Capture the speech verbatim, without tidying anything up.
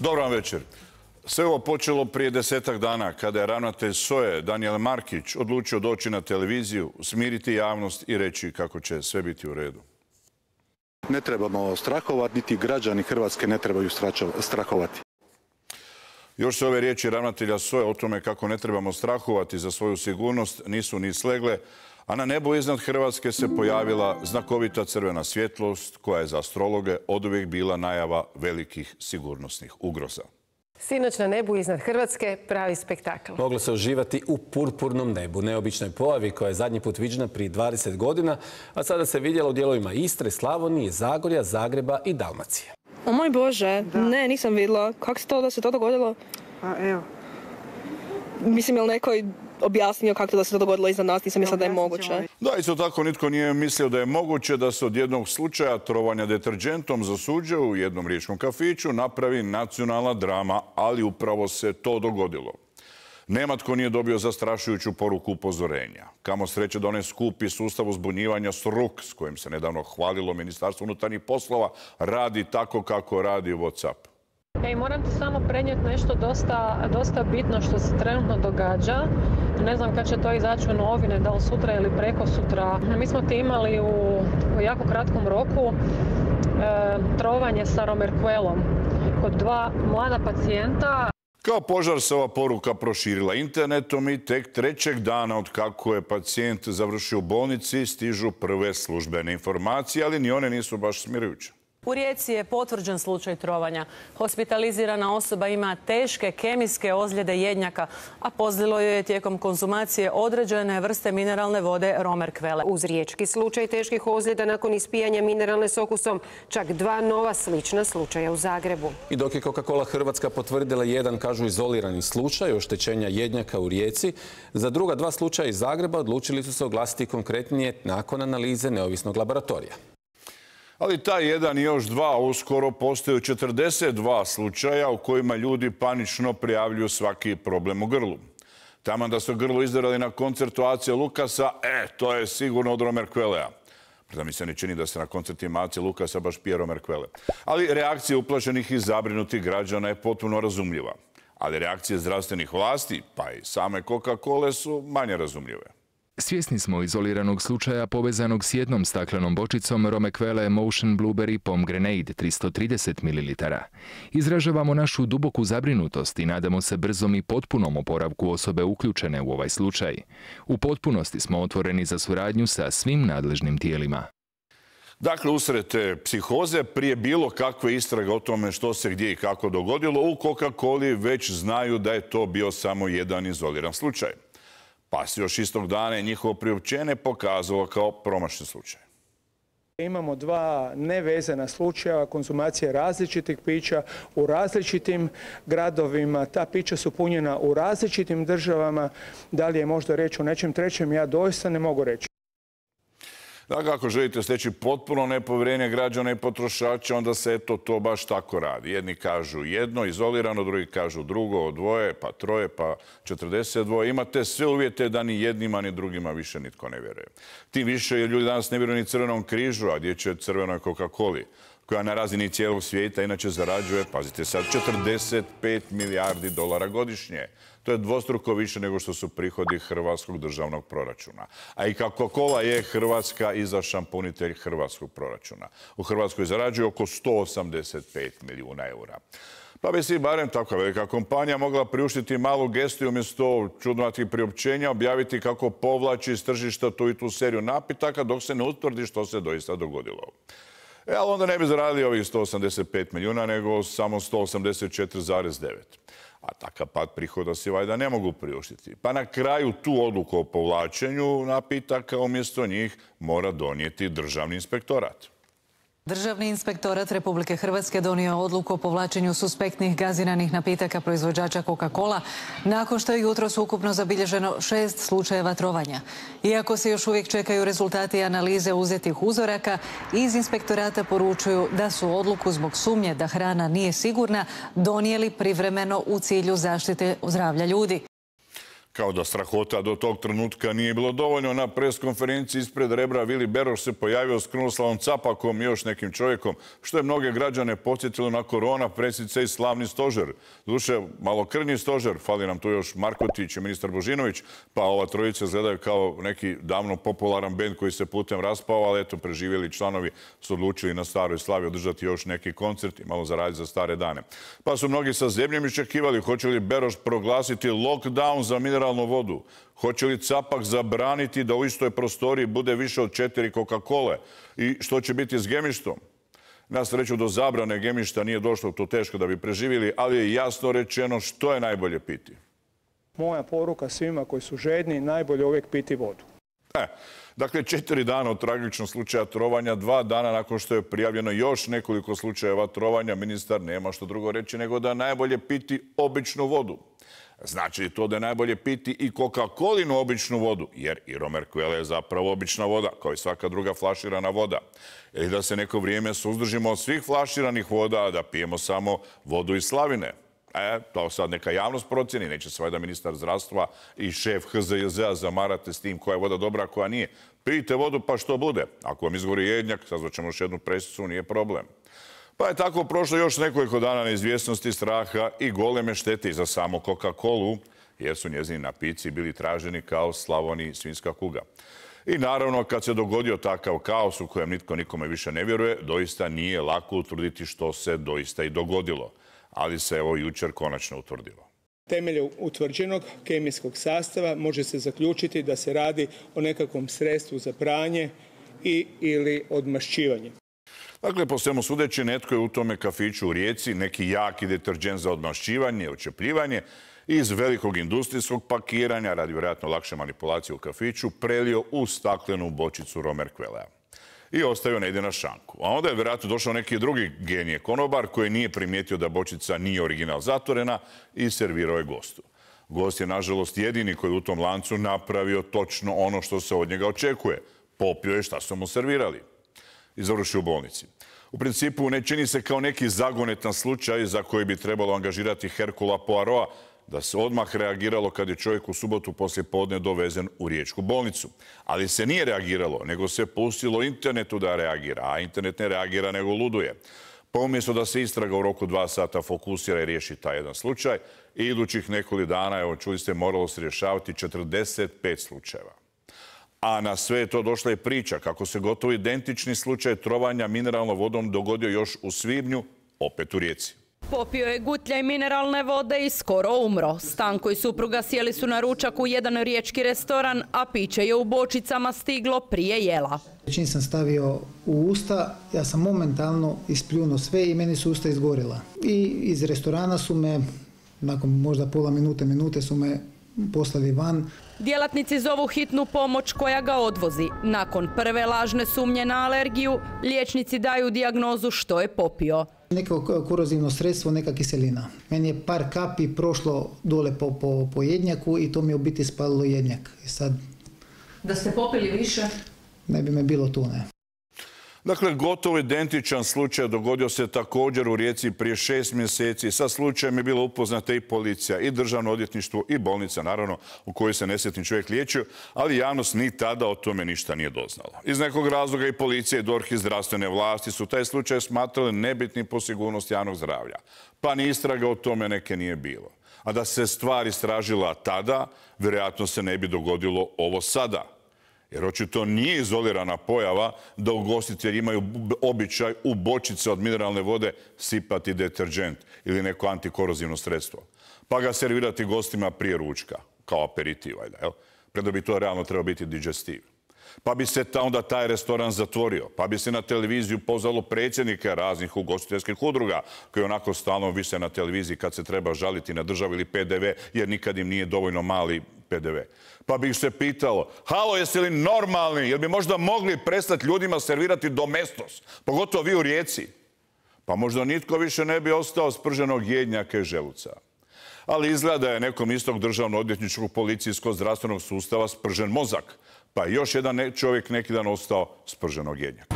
Dobar vam večer. Sve ovo počelo prije desetak dana kada je ravnatelj S O E Danijel Markić odlučio doći na televiziju, smiriti javnost i reći kako će sve biti u redu. Ne trebamo strahovati, niti građani Hrvatske ne trebaju strahovati. Još se ove riječi ravnatelja S O E o tome kako ne trebamo strahovati za svoju sigurnost nisu ni slegle, a na nebu iznad Hrvatske se pojavila znakovita crvena svjetlost koja je za astrologe oduvijek bila najava velikih sigurnosnih ugroza. Sinoć na nebu iznad Hrvatske pravi spektakl. Moglo se uživati u purpurnom nebu, neobičnoj pojavi koja je zadnji put viđena prije dvadeset godina, a sada se vidjela u dijelovima Istre, Slavonije, Zagorja, Zagreba i Dalmacije. O moj Bože, da. Ne, nisam vidjela. Kako se to da se to dogodilo? Pa evo. Mislim, je li neko objasnio kako to da se to dogodilo iznad nas? Nisam mislila da je moguće. Da, isto tako nitko nije mislio da je moguće da se od jednog slučaja trovanja deterđentom za suđe u jednom riječkom kafiću napravi nacionalna drama, ali upravo se to dogodilo. Nema tko nije dobio zastrašujuću poruku upozorenja. Kamo sreće da onaj skupi sustav uzbunjivanja S R U K, s kojim se nedavno hvalilo Ministarstvo unutarnjih poslova, radi tako kako radi WhatsApp. Ej, moram ti samo prenijeti nešto dosta, dosta bitno što se trenutno događa. Ne znam kad će to izaći u novine, da li sutra ili preko sutra. Mi smo ti imali u, u jako kratkom roku e, trovanje sa romerkvelom kod dva mlada pacijenta. Kao požar se ova poruka proširila internetom i tek trećeg dana od kako je pacijent završio u bolnici stižu prve službene informacije, ali ni one nisu baš smirujuće. U Rijeci je potvrđen slučaj trovanja. Hospitalizirana osoba ima teške kemijske ozljede jednjaka, a pozlilo joj je tijekom konzumacije određene vrste mineralne vode romerkvele. Uz riječki slučaj teških ozljeda nakon ispijanja mineralne s okusom, čak dva nova slična slučaja u Zagrebu. I dok je Coca-Cola Hrvatska potvrdila jedan, kažu, izolirani slučaj oštećenja jednjaka u Rijeci, za druga dva slučaja iz Zagreba odlučili su se oglasiti konkretnije nakon analize neovisnog laboratorija. Ali taj jedan i još dva uskoro postaju četrdeset dva slučaja u kojima ljudi panično prijavljuju svaki problem u grlu. Taman da su grlo izdarali na koncertu Ace Lukasa, e, to je sigurno od romerkvelea. Pritom mi se ne čini da se na koncertima Ace Lukasa baš pije romerkvele. Ali reakcija uplašenih i zabrinutih građana je potpuno razumljiva. Ali reakcije zdravstvenih vlasti, pa i same Coca-Cole, su manje razumljive. Svjesni smo izoliranog slučaja povezanog s jednom staklenom bočicom romerkvele Motion Blueberry Pomegranate tristo trideset mililitara. Izražavamo našu duboku zabrinutost i nadamo se brzom i potpunom oporavku osobe uključene u ovaj slučaj. U potpunosti smo otvoreni za suradnju sa svim nadležnim tijelima. Dakle, usred te psihoze, prije bilo kakve istrage o tome što se gdje i kako dogodilo, u Coca-Coli već znaju da je to bio samo jedan izoliran slučaj. Pa se još istog dana je njihovo priopćenje pokazalo kao promašen slučaj. Imamo dva nevezana slučaja konzumacije različitih pića u različitim gradovima. Ta pića su punjena u različitim državama. Da li je možda reći o nečem trećem, ja doista ne mogu reći. Dakle, ako želite steći potpuno nepovjerenje građana i potrošača, onda se eto to baš tako radi. Jedni kažu jedno, izolirano, drugi kažu drugo, dvoje, pa troje, pa četrdeset dva. Imate sve uvjete da ni jednima ni drugima više nitko ne vjeruje. Tim više jer ljudi danas ne vjeruju ni Crvenom križu, a gdje će Crvenoj Coca-Coli, koja na razini cijelog svijeta inače zarađuje, pazite sad, četrdeset pet milijardi dolara godišnje. To je dvostruko više nego što su prihodi hrvatskog državnog proračuna. A i Coca-Cola je hrvatska izašan punitelj hrvatskog proračuna. U Hrvatskoj zarađuje oko sto osamdeset pet milijuna eura. Pa bi si barem takva velika kompanija mogla priuštiti malu gestu i umjesto čudnovatih priopćenja objaviti kako povlači iz tržišta tu i tu seriju napitaka dok se ne utvrdi što se doista dogodilo. E, ali onda ne bi zaradili ovih sto osamdeset pet milijuna, nego samo sto osamdeset četiri zarez devet. A takav pad prihoda si valjda ne mogu priuštiti. Pa na kraju tu odluku o povlačenju napitaka umjesto njih mora donijeti Državni inspektorat. Državni inspektorat Republike Hrvatske donio odluku o povlačenju suspektnih gaziranih napitaka proizvođača Coca-Cola nakon što je jutros ukupno zabilježeno šest slučajeva trovanja. Iako se još uvijek čekaju rezultati analize uzetih uzoraka, iz inspektorata poručuju da su odluku zbog sumnje da hrana nije sigurna donijeli privremeno u cilju zaštite zdravlja ljudi. Kao da strahota do tog trenutka nije bilo dovoljno, na preskonferenciji ispred Rebra Vili Beroš se pojavio s Krunoslavom Capakom i još nekim čovjekom, što je mnoge građane podsjetilo na korona presice i slavni stožer. Doduše, malokrvni stožer, fali nam tu još Markotić i ministar Božinović, pa ova trojica izgledaju kao neki davno popularan bend koji se putem raspao, ali eto, preživjeli članovi su odlučili na Staroj Slavi održati još neki koncert i malo zaraditi za stare dane. Pa su mnogi sa zemljom iščekivali hoće li Beroš proglasiti lockdown za mineralnu vodu. Hoće li Capak zabraniti da u istoj prostoriji bude više od četiri Coca-Cole? I što će biti s gemištom? Na sreću do zabrane gemišta nije došlo, to teško da bi preživjeli, ali je jasno rečeno što je najbolje piti. Moja poruka svima koji su žedni, najbolje uvijek piti vodu. E, dakle, četiri dana od tragičnog slučaja trovanja, dva dana nakon što je prijavljeno još nekoliko slučajeva trovanja, ministar nema što drugo reći nego da je najbolje piti običnu vodu. Znači li to da je najbolje piti i Coca-Colinu običnu vodu, jer i Romerquelle je zapravo obična voda, kao i svaka druga flaširana voda. Ili da se neko vrijeme suzdržimo od svih flaširanih voda, a da pijemo samo vodu iz slavine. E, to sad neka javnost procjeni, neće se valjda ministar zdravstva i šef H Z J Z-a zamarate s tim koja je voda dobra, a koja nije. Pijte vodu pa što bude. Ako vam izgori jednjak, sazvaćemo još jednu presicu, nije problem. Pa je tako prošlo još nekoliko dana neizvjesnosti, straha i goleme štete za samo Coca-Colu, jer su njezini napici bili traženi kao Slavoniji svinjska kuga. I naravno, kad se dogodio takav kaos u kojem nitko nikome više ne vjeruje, doista nije lako utvrditi što se doista i dogodilo. Ali se evo jučer konačno utvrdilo. Temeljem utvrđenog kemijskog sastava može se zaključiti da se radi o nekakvom sredstvu za pranje i ili odmašćivanje. Dakle, po svemu sudeći, netko je u tome kafiću u Rijeci neki jaki deterđent za odmašćivanje, očepljivanje iz velikog industrijskog pakiranja, radi vjerojatno lakše manipulacije u kafiću, prelio u staklenu bočicu Romerquellea i ostavio negdje na šanku. A onda je vjerojatno došao neki drugi genije konobar koji nije primijetio da bočica nije original zatvorena i servirao je gostu. Gost je, nažalost, jedini koji u tom lancu napravio točno ono što se od njega očekuje. Popio je šta su mu servirali i završio u bolnici. U principu ne čini se kao neki zagonetan slučaj za koji bi trebalo angažirati Hercula Poirota, da se odmah reagiralo kad je čovjek u subotu poslijepodne dovezen u riječku bolnicu. Ali se nije reagiralo, nego se pustilo internetu da reagira, a internet ne reagira nego luduje. Pa umjesto da se istraga u roku dva sata fokusira i riješi taj jedan slučaj, i idućih nekoliko dana, evo čuli ste, moralo se rješavati četrdeset pet slučajeva. A na sve je to došla i priča kako se gotovo identični slučaj trovanja mineralnom vodom dogodio još u svibnju, opet u Rijeci. Popio je gutljaj mineralne vode i skoro umro. Stanko i supruga sjeli su na ručak u jedan riječki restoran, a piće je u bočicama stiglo prije jela. Čim sam stavio u usta, ja sam momentalno ispljunuo sve i meni su usta izgorila. I iz restorana su me, nakon možda pola minute, minute su me poslali van. Djelatnici zovu hitnu pomoć koja ga odvozi. Nakon prve lažne sumnje na alergiju, liječnici daju dijagnozu što je popio. Neko korozivno sredstvo, neka kiselina. Meni je par kapi prošlo dole po, po, po jednjaku i to mi je u biti spalilo jednjak. I sad... Da ste popili više? Ne bi me bilo tu, ne. Dakle, gotovo identičan slučaj dogodio se također u Rijeci prije šest mjeseci. Sa slučajem je bila upoznata i policija, i državno odvjetništvo, i bolnica, naravno, u kojoj se nesretni čovjek liječio, ali javnost ni tada o tome ništa nije doznala. Iz nekog razloga i policija, i D O R H i zdravstvene vlasti su taj slučaj smatrali nebitnim po sigurnost javnog zdravlja. Pa ni istraga o tome neke nije bilo. A da se stvar istražila tada, vjerojatno se ne bi dogodilo ovo sada. Jer očito nije izolirana pojava da ugostitelji imaju običaj u bočice od mineralne vode sipati deterđent ili neko antikorozivno sredstvo. Pa ga servirati gostima prije ručka, kao aperitiv, valjda, jel? Preda bi to realno trebao biti digestiv. Pa bi se ta, onda taj restoran zatvorio. Pa bi se na televiziju pozvalo predsjednike raznih ugostiteljskih udruga koji onako stalno vise na televiziji kad se treba žaliti na državu ili P D V jer nikad im nije dovoljno mali P D V. Pa bi ih se pitalo, halo, jeste li normalni? Jel bi možda mogli prestati ljudima servirati domestos? Pogotovo vi u Rijeci. Pa možda nitko više ne bi ostao sprženog jednjaka i želuca. Ali izgleda je nekom istog državno-odvjetničkog policijskog zdravstvenog sustava spržen mozak. Pa još jedan čovjek neki dan ostao sprženog jednjaka.